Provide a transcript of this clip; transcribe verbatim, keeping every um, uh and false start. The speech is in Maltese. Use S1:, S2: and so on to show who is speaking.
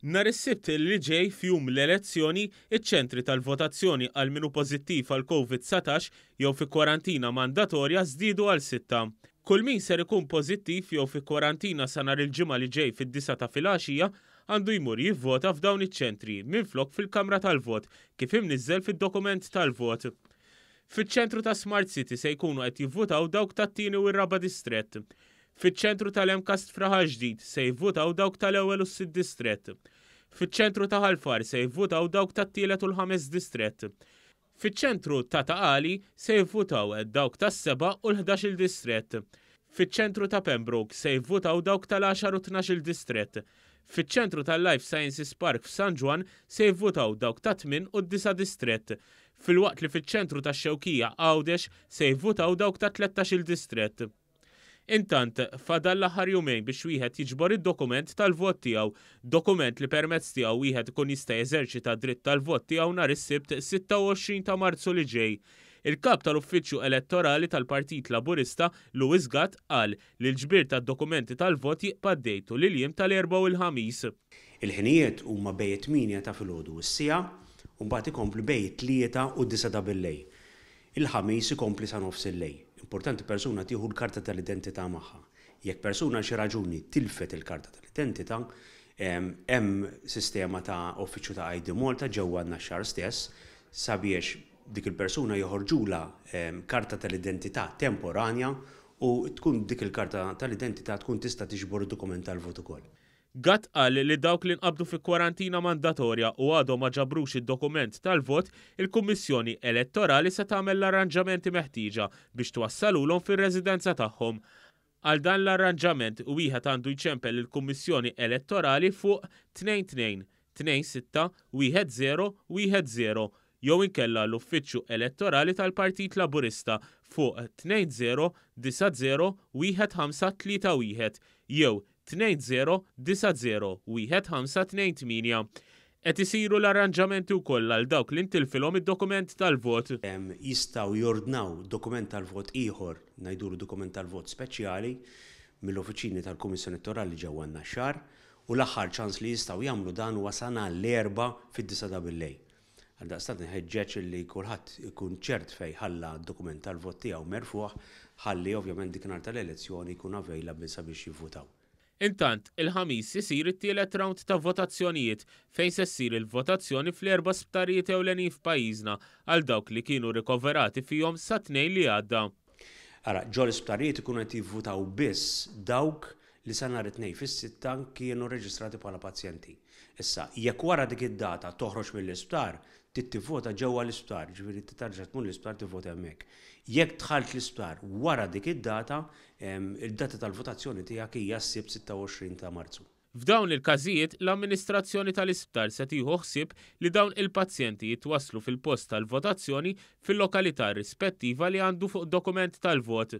S1: Nhar is-Sibt li ġej, f'jum l-elezzjoni, iċ-ċentri tal-votazzjoni għal min hu pożittiv għal Covid dsatax jew fi kwarantina mandatorja żdiedu għal sitta. Kull min ser ikun pożittiv jew fi kwarantina sa nhar il-Ġimgħa li ġej fid-disgħa ta' filgħaxija għandu jmur jivvota f'dawn iċ-ċentri minflok fil-kamra tal-vot, kif imniżżel fid-dokument tal-vot. Fiċ-ċentru ta' Smart City se jkunu qed jivvutaw dawk tat-tieni u r-raba' distrett. Fiċ-ċentru tal-MCAST f'Raħal Ġdid se jivvutaw dawk tal-ewwel u s-sitt distrett. Fiċ-ċentru ta' Ħal Far se jivvutaw dawk tat-tielet u l-ħames distrett. Fiċ-ċentru ta' Ta' Qali se jivvutaw dawk tas-seba' u l-ħdax-il distrett. Fiċ-ċentru ta' Pembroke se jivvutaw dawk tal-għaxar u tnax-il distrett. Fiċ-ċentru tal-Life Sciences Park f'San Ġwann se jivvutaw dawk ta' tmien u d-disa' distrett. Filwaqt li fiċ-ċentru tax-Xewkija, Għawdex, se jivvutaw dawk ta' tlettax-il distrett. Intant, fadal l-aħħar jumejn biex wieħed jiġbor id-dokument tal-vot tiegħu, dokument li permezz tiegħu wieħed ikun jista' jeżerċita dritt tal-vot tiegħu nhar is-Sibt sitta u għoxrin ta' Marzu li ġej. Il-kap tal-Uffiċċju Elettorali tal-Partit Laburista, Louis Gatt, qal li l-ġbir tad-dokumenti tal-vot jibqa' għaddej tul il-jiem tal-Erbgħa u l-Ħamis.
S2: Il-ħinijiet huma bejn tmienja ta' filgħodu u s-siegħa u mbagħad ikompli bejn tlieta u disgħa ta' billejl. Il-Ħamis ikompli sa nofs il-lejl. Importanti persuna tieħu l-karta tal-identità magħha. Jekk persuna xi raġuni tilfet il-karta tal-identità, hemm sistema ta' uffiċċju ta' I D Malta ġewwa n-Naxxar stess sabiex dik il-persuna joħorġula karta tal-identità temporanja u tkun dik il-karta tal-identità tkun tista' tiġbor id-dokument tal-vot ukoll.
S1: Gatt qal li dawk li nqabdu fi kwarantina mandatorja u għadhom ma ġabrux id-dokument tal-vot, il-Kummissjoni Elettorali se tagħmel l-arranġamenti meħtieġa biex twassalulhom fir-residenza tagħhom. Għal dan l-arranġament wieħed għandu jċempel il-Kummissjoni Elettorali fuq tnejn tnejn tnejn sitta wieħed żero wieħed żero jew inkella l-Uffiċċju Elettorali tal-Partit Laburista fuq tnejn żero disa' żero wieħed ħamsa tlieta wieħed jew tnejn żero disa' żero wieħed ħamsa tnejn tmienja. Qed isiru l-arranġamenti wkoll għal dawk li ntilfilhom id-dokument tal-vot.
S2: Jistgħu jordnaw dokument tal-vot ieħor, ngħidulu dokument tal-vot speċjali, mill-uffiċini tal-Kummissjoni Elettorali ġewwa n-Naxxar u l-aħħar ċans li jistgħu jagħmlu dan huwa sa nhar l-Erbgħa fid-disgħa ta' billejl. Għaldaqstant nħeġġeġ li kulħadd ikun ċert fejn ħalla d-dokument tal-vot tiegħu merfuħ ħalli ovvjament dik nhar tal-elezzjoni jkun available sabiex jivvutaw.
S1: Intant, il-Ħamis isir it-tielet round ta' votazzjonijiet, fejn se ssir il-votazzjoni fl-erba' sptarijiet ewlenin f'pajjiżna għal dawk li kienu rikoverati fihom sa Tnejn li għadda.
S2: Ara, ġol isptarijiet ikunu qed jivvutaw biss dawk li sa nhar it-Tnejn fis-sitta kienu reġistrati bħala pazjenti. Issa, jekk wara dik id-data toħroġ mill-isptar, trid tivvota ġewwa l-isptar, ġifieri terġa' tmur l-isptar tivvota hemmhekk. Jekk dħalt l-isptar wara dik id-data, id-data tal-votazzjoni tiegħek hija s-Sibt sitta u għoxrin ta' Marzu.
S1: F'dawn il-każijiet, l-amministrazzjoni tal-isptar se tieħu ħsieb li dawn il-pazjenti jitwaslu fil-post tal-votazzjoni fil-lokalità rispettiva li għandu fuq dokument tal-vot.